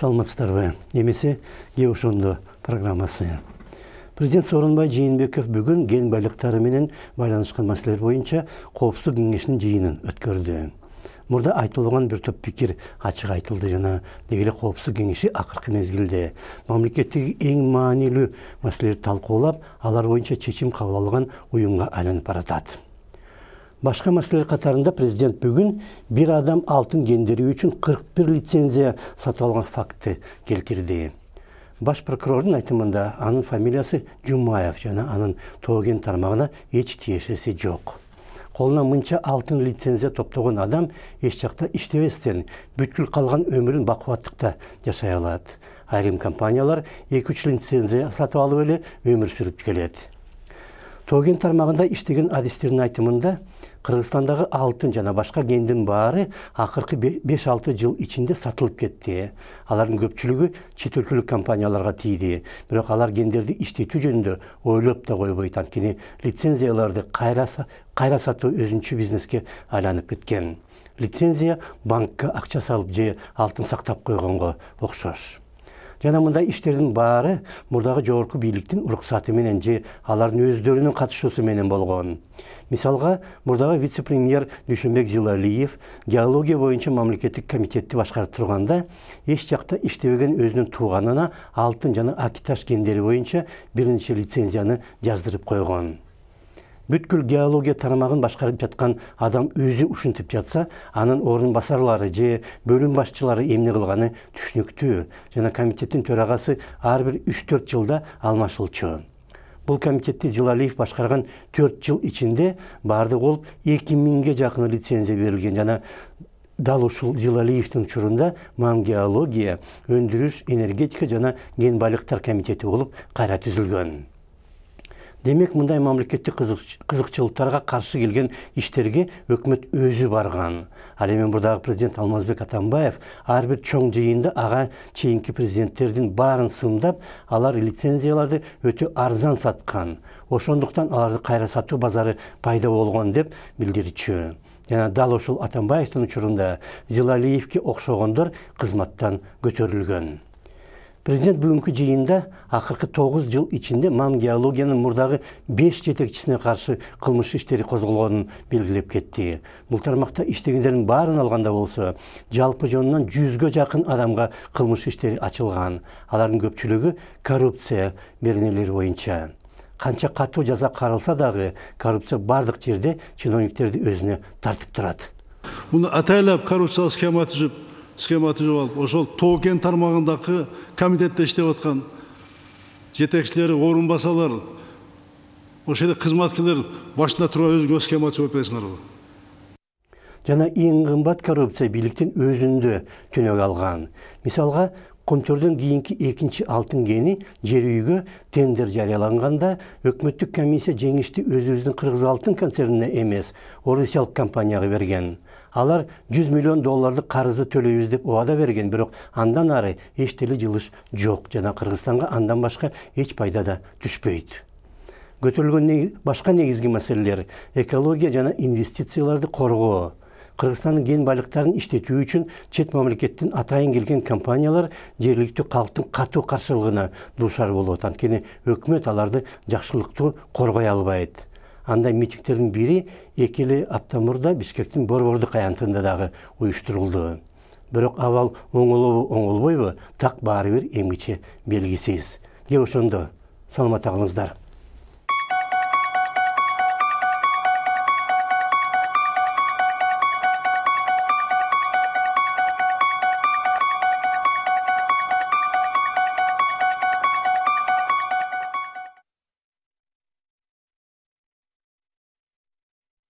Саламатсыздарбы? Эмесе ке ошондо программасы. Президент Сооронбай Жээнбеков бүгүн ген байлыктары менен байланышкан маселелер боюнча коопсуздук кеңешинин жыйынын өткөрдү. Мурда айтылган бир топ пикир ачык айтылды жана деги эле коопсуздук кеңеши акыркы мезгилде мамлекеттеги эң маанилүү маселелерди талкуулап, алар боюнча чечим кабыл алган уюмга айланып баратат. Башка маселелер катарында президент бүгүн бир адам алтын гендери үчүн 41 лицензия сатып алган факты келтирди. Баш прокурордун айтымында анын фамилиясы Жумаев жана анын тоо кен тармагына эч тиешеси жок. Колуна мынча алтын лицензия топтогон адам эч жакта иштебестен бүткүл калган өмүрүн бакубаттыкта жашай алат. Айрым компаниялар 2-3 лицензия сатып алып эле өмүр сүрүп келет. Тоо кен тармагында иштеген адистердин айтымында Кыргызстандагы алтын жана башка кендин баары акыркы 5-6 жыл ичинде сатылып кетти. Алардын көпчүлүгү чет өлкөлүк компанияларга тийди. Бирок алар кендерди иштетүү жөнүндө ойлоп да койбойт, анткени лицензияларды кайра сатуу өзүнчө бизнеске айланып кеткен. Лицензия банкка акча салып же алтын сактап койгонго окшош. Жана мындай иштердин баары мурдагы жогорку бийликтин уруксаты менен же алардын өздөрүнүн катышуусу менен болгон. Мисалга, мурдагы вице-премьер Дүйшөнбек Зилалиев геология боюнча мамлекеттик комитетти башкарып турганда эч жакта иштебеген өзүнүн тууганына алтын жана акиташ кендери боюнча бир нече лицензияны жаздырып койгон. Бүткүл геология тармагын башкарып жаткан адам өзү ушинтип жатса, анын орун басарлары же бөлүм башчылары эмне кылганы түшүнүктүү жана комитеттин төрагасы ар бир 3-4 жылда алмашылчу. Бул комитетти Зилалиев башкарган 4 жыл ичинде баардыгы болуп 2000ге жакын лицензия берилген жана дал ушул Зилалиевдин учурунда Мам геология, өндүрүш, энергетика жана кен байлыктар комитети болуп кайра түзүлгөн. Демек, мындай мамлекеттик кызыкчылыктарга каршы келген иштерге өкмөт өзү барган. Ал эми мурдагы президент Алмазбек Атамбаев ар бир чоң жыйында ага чейинки президенттердин баарын сындап, алар лицензияларды өтө арзан саткан. Ошондуктан аларды кайра сатуу базары пайда болгон деп билдирчү. Жана дал ошол Атамбаевдин учурунда Зилалиевке окшогондор кызматтан көтөрүлгөн. Президент бүгүнкү жыйында акыркы 9 жыл ичинде Мам геологиянын мурдагы 5 жетекчисине каршы кылмыш иштери козголгонун белгилеп кетти. Бул тармакта иштегендердин баарын алганда болсо, жалпы жонунан 100га жакын адамга кылмыш иштери ачылган. Алардын көпчүлүгү коррупция беренелери боюнча. Канча катуу жаза каралса дагы, коррупция бардык жерде чиновниктерди өзүнө тартып турат. Муну атайлап коррупциялык схема түзүп алып, ошол тоо кен тармагындагы комитетте иштеп аткан жетекчилери, орун басалар, ошол эле кызматкерлер башында туруп өзгө схема түзүп атпайсыңарбы? Жана эң кымбат коррупция бийликтин өзүндө түнөк алган. Мисалга, Көмтөрдөн кийинки 2-чи алтын кени жер үйгө тендер жарыяланганда өкмөттүк комиссия жеңишти өзүбүздүн Кыргыз алтын концернине эмес, орусиялык компанияга берген. Алар $100 миллион карызды төлөйбүз деп убада берген, бирок андан ары эч деле жылыш жок жана Кыргызстанга андан башка эч пайда да түшпөйт. Көтөрүлгөн башка негизги маселелер экология жана инвестицияларды коргоо. Кыргызстандын кен байлыктарын иштетүү үчүн чет мамлекеттин атайын келген компаниялар жергиликтүү калктын катуу каршылыгына дуушар болот, анткени өкмөт аларды жакшылыктуу коргой албайт. Андай митингдердин бири 2 апта мурда Бишкектин Борбордук аянтында дагы уюштурулду. Бирок абал оңолобу оңолбойбу, так баары бир эмгиче белгисиз. Ке ошондо саламат калыңыздар.